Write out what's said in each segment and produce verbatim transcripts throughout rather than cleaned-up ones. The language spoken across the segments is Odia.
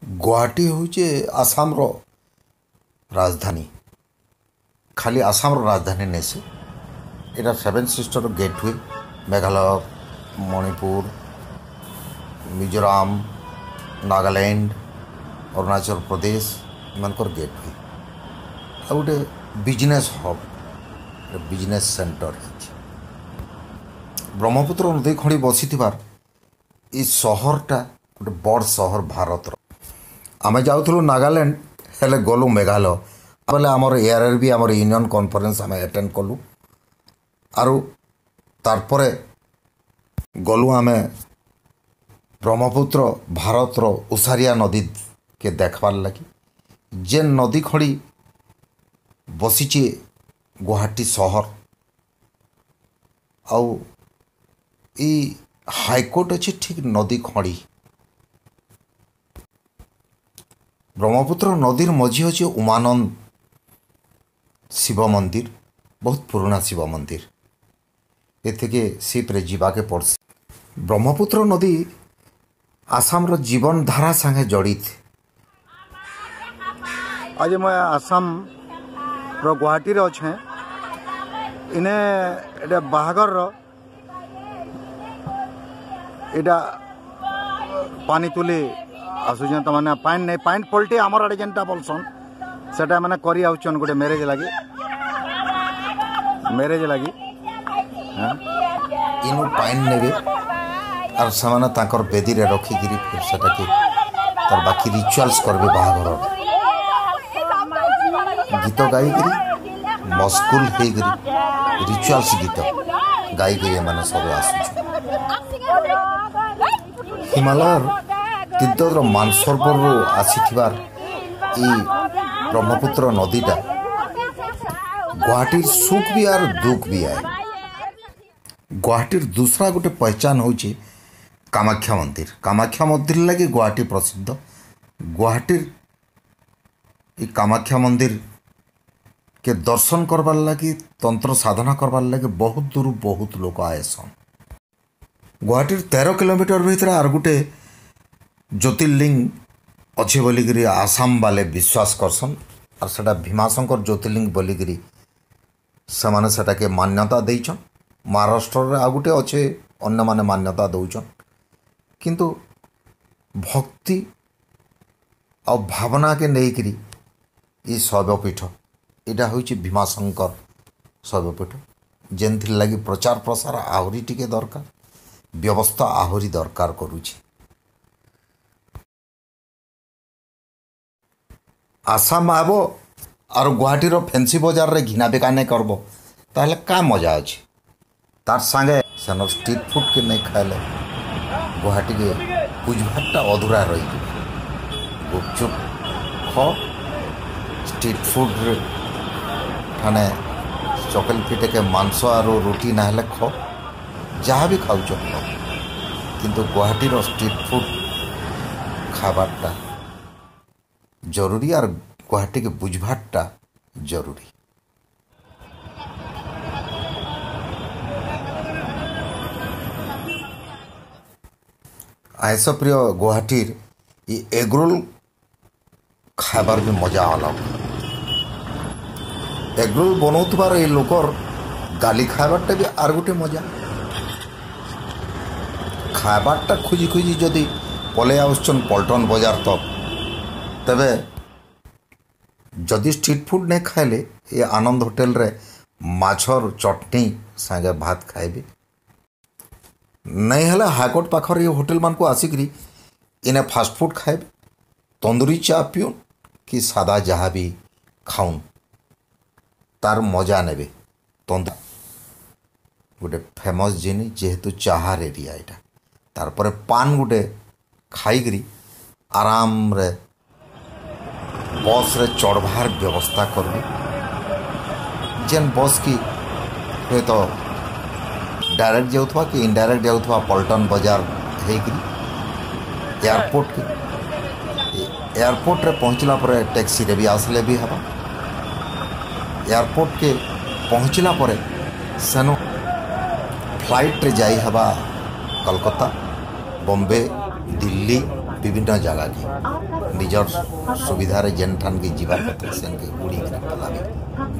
ଗୁଆହାଟୀ ହେଉଛି ଆସାମର ରାଜଧାନୀ। ଖାଲି ଆସାମର ରାଜଧାନୀ ନାଇଁ ସେ, ଏଇଟା seven sister gateway. Meghalaya, Manipur, Mizoram, Nagaland, Arunachal Pradesh ଏମାନଙ୍କର ଗେଟୱେ। ଆଉ ଗୋଟେ ବିଜନେସ୍ ହବ୍, ବିଜନେସ୍ ସେଣ୍ଟର ହେଇଛି। ବ୍ରହ୍ମପୁତ୍ର ନଦୀ ଖଡ଼ି ବସିଥିବାର ଏ ସହରଟା ଗୋଟେ ବଡ଼ ସହର ଭାରତର। ଆମେ ଯାଉଥିଲୁ ନାଗାଲ୍ୟାଣ୍ଡ, ହେଲେ ଗଲୁ ମେଘାଳୟ। ବୋଲେ ଆମର ଏଆର୍ ଆର୍ ବି ଆମର ୟୁନିୟନ୍ କନଫରେନ୍ସ ଆମେ ଆଟେଣ୍ଡ କଲୁ। ଆରୁ ତାରପରେ ଗଲୁ ଆମେ ବ୍ରହ୍ମପୁତ୍ର ଭାରତର ଓସାରିଆ ନଦୀକେ ଦେଖବାର୍ ଲାଗି, ଯେନ୍ ନଦୀ ଖଡ଼ି ବସିଛେ ଗୁଆହାଟୀ ସହର। ଆଉ ଇ ହାଇକୋର୍ଟ ଅଛି ଠିକ୍ ନଦୀ ଖଡ଼ି। ବ୍ରହ୍ମପୁତ୍ର ନଦୀର ମଝି ଅଛି ଉମାନନ୍ଦ ଶିବ ମନ୍ଦିର, ବହୁତ ପୁରୁଣା ଶିବ ମନ୍ଦିର। ଏଥିକେ ସିପ୍ରେ ଯିବାକେ ପଡ଼୍ସି। ବ୍ରହ୍ମପୁତ୍ର ନଦୀ ଆସାମର ଜୀବନଧାରା ସାଙ୍ଗେ ଜଡ଼ିତ। ଆଜି ମୁଇଁ ଆସାମର ଗୁଆହାଟୀରେ ଅଛେଁ। ଇନେ ଏଇଟା ବାହାଘରର ଏଇଟା ପାନି ତୁଲି ଆସୁଛନ୍। ତାମାନେ ପାଏନ୍ ନାଇଁ, ପାଏନ୍ ପଲ୍ଟି ଆମର ଆଡ଼େ ଯେନ୍ଟା ବୋଲସନ୍, ସେଟା ମାନେ କରି ଆଉଛନ୍ ଗୋଟେ ମ୍ୟାରେଜ୍ ଲାଗି, ମ୍ୟାରେଜ୍ ଲାଗି। ଇନୁ ପାଏନ୍ ନେବେ ଆର୍ ସେମାନେ ତାଙ୍କର ବେଦୀରେ ରଖିକିରି ଫିର୍ ସେଟାକେ ତାର ବାକି ରିଚୁଆଲ୍ସ କରିବେ। ବାହାଘର ଗୀତ ଗାଇକିରି ମସଗୁଲ ହେଇକିରି ରିଚୁଆଲ୍ସ ଗୀତ ଗାଇକିରି ଏମାନେ ସବୁ ଆସୁଛନ୍। ହିମାଳୟର ତିବ୍ଦତର ମାନସରୋବରରୁ ଆସିଥିବାର ଏଇ ବ୍ରହ୍ମପୁତ୍ର ନଦୀଟା ଗୁଆହାଟୀର ସୁଖ ବି ଆର୍ ଦୁଃଖ ବି ଆଏ। ଗୁଆହାଟୀର ଦୁସରା ଗୋଟେ ପହଚାନ ହେଉଛି କାମାକ୍ଷା ମନ୍ଦିର। କାମାକ୍ଷା ମନ୍ଦିର ଲାଗି ଗୁଆହାଟୀ ପ୍ରସିଦ୍ଧ। ଗୁଆହାଟୀର ଇ କାମାକ୍ଷା ମନ୍ଦିର କେ ଦର୍ଶନ କରବାର୍ ଲାଗି, ତନ୍ତ୍ର ସାଧନା କରବାର୍ ଲାଗି ବହୁତ ଦୂର ବହୁତ ଲୋକ ଆଏସନ୍। ଗୁଆହାଟୀର ତେର କିଲୋମିଟର ଭିତରେ ଆର୍ ଗୋଟେ ଜ୍ୟୋତିର୍ଲିଙ୍ଗ ଅଛେ ବୋଲିକିରି ଆସାମ ବାଲେ ବିଶ୍ୱାସ କରସନ୍, ଆର୍ ସେଟା ଭୀମାଶଙ୍କର ଜ୍ୟୋତିର୍ଲିଙ୍ଗ ବୋଲିକିରି ସେମାନେ ସେଟାକେ ମାନ୍ୟତା ଦେଇଛନ୍। ମହାରାଷ୍ଟ୍ରରେ ଆଉ ଗୋଟେ ଅଛେ, ଅନ୍ୟମାନେ ମାନ୍ୟତା ଦଉଛନ୍। କିନ୍ତୁ ଭକ୍ତି ଆଉ ଭାବନାକେ ନେଇକିରି ଇ ଶୈବପୀଠ, ଏଇଟା ହେଉଛି ଭୀମାଶଙ୍କର ଶୈବପୀଠ, ଯେନ୍ଥିର୍ ଲାଗି ପ୍ରଚାର ପ୍ରସାର ଆହୁରି ଟିକେ ଦରକାର, ବ୍ୟବସ୍ଥା ଆହୁରି ଦରକାର କରୁଛି। ଆସାମ ଆବ ଆରୁ ଗୁଆହାଟୀର ଫେନ୍ସି ବଜାରରେ ଘିନା ବିକା ନାଇଁ କରବ, ତାହେଲେ କାଁ ମଜା ଅଛି? ତାର୍ ସାଙ୍ଗେ ସେନ ଷ୍ଟ୍ରିଟ୍ ଫୁଡ଼୍କେ ନାଇଁ ଖାଇଲେ ଗୁଆହାଟୀକେ ବୁଝବାରଟା ଅଧୁରା ରହିଯିବ। ଗୁପଚୁପ୍ ଖ, ଷ୍ଟ୍ରିଟ୍ ଫୁଡ଼୍ରେ ଠାନେ ଚକେଲ ପିଠେକେ ମାଂସ ଆରୁ ରୁଟି ନା ହେଲେ ଖ, ଯାହା ବି ଖାଉଛ ଖ, କିନ୍ତୁ ଗୁଆହାଟୀର ଷ୍ଟ୍ରିଟ୍ ଫୁଡ଼୍ ଖାଇବାରଟା ଜରୁରୀ ଆର୍ ଗୁଆହାଟୀକେ ବୁଝବାରଟା ଜରୁରୀ। ଆଇଁଷ ପ୍ରିୟ ଗୁଆହାଟୀର ଇ ଏଗରୋଲ ଖାଇବାର ବି ମଜା ଅଲଗ। ଏଗରୋଲ ବନଉଥିବାର ଏଇ ଲୋକର ଗାଲି ଖାଇବାରଟା ବି ଆର୍ ଗୋଟେ ମଜା। ଖାଇବାରଟା ଖୋଜି ଖୋଜି ଯଦି ପଲେଇ ଆସୁଛନ୍ ପଲ୍ଟନ ବଜାର ତକ୍, ତେବେ ଯଦି ଷ୍ଟ୍ରିଟ୍ ଫୁଡ଼୍ ନାଇଁ ଖାଇଲେ ଏ ଆନନ୍ଦ ହୋଟେଲରେ ମାଛର ଚଟଣି ସାଙ୍ଗେ ଭାତ ଖାଇବେ। ନାଇଁ ହେଲେ ହାଇକୋର୍ଟ ପାଖରେ ଏ ହୋଟେଲମାନଙ୍କୁ ଆସିକିରି ଇନେ ଫାଷ୍ଟଫୁଡ଼୍ ଖାଇବେ, ତନ୍ଦୁରୀ ଚା ପିଉନ୍ କି ସାଦା ଯାହା ବି ଖାଉନ୍, ତାର ମଜା ନେବେ। ତନ୍ଦୁର ଗୋଟେ ଫେମସ୍ ଜିନିଷ, ଯେହେତୁ ଚାହାର ଏରିଆ ଏଇଟା। ତାରପରେ ପାନ୍ ଗୋଟେ ଖାଇକିରି ଆରାମରେ ବସ୍ରେ ଚଢ଼ବାର୍ ବ୍ୟବସ୍ଥା କରିବେ, ଯେନ୍ ବସ୍ କି ହୁଏତ ଡାଇରେକ୍ଟ ଯାଉଥିବା କି ଇନଡାଇରେକ୍ଟ ଯାଉଥିବା ପଲ୍ଟନ ବଜାର ହେଇକିରି ଏୟାରପୋର୍ଟକେ। ଏୟାରପୋର୍ଟରେ ପହଞ୍ଚିଲା ପରେ ଟ୍ୟାକ୍ସିରେ ବି ଆସିଲେ ବି ହେବା। ଏୟାରପୋର୍ଟକେ ପହଞ୍ଚିଲା ପରେ ସେନୁ ଫ୍ଲାଇଟ୍ରେ ଯାଇ ହେବା କଲକତା, ବମ୍ବେ, ଦିଲ୍ଲୀ, ବିଭିନ୍ନ ଜାଗାକେ ନିଜର ସୁବିଧାରେ ଯେନ୍ଠାନ୍କେ ଯିବାର କଥା ସେନ୍କେ ଉଡ଼ିକିରି ପଲାବେ,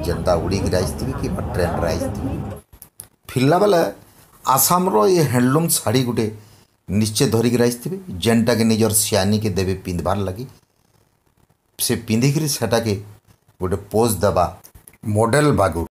ଯେନ୍ତା ଉଡ଼ିକିରି ଆସିଥିବେ କିମ୍ବା ଟ୍ରେନ୍ରେ ଆସିଥିବେ। ଫିରଲା ବେଲେ ଆସାମର ଏ ହ୍ୟାଣ୍ଡଲୁମ୍ ଶାଢ଼ୀ ଗୋଟେ ନିଶ୍ଚୟ ଧରିକିରି ଆସିଥିବେ, ଯେନ୍ଟାକି ନିଜର ସିଆନୀକେ ଦେବେ ପିନ୍ଧବାର୍ ଲାଗି। ସେ ପିନ୍ଧିକିରି ସେଟାକେ ଗୋଟେ ପୋଜ୍ ଦେବା ମଡ଼େଲ୍ ବାଗୁ।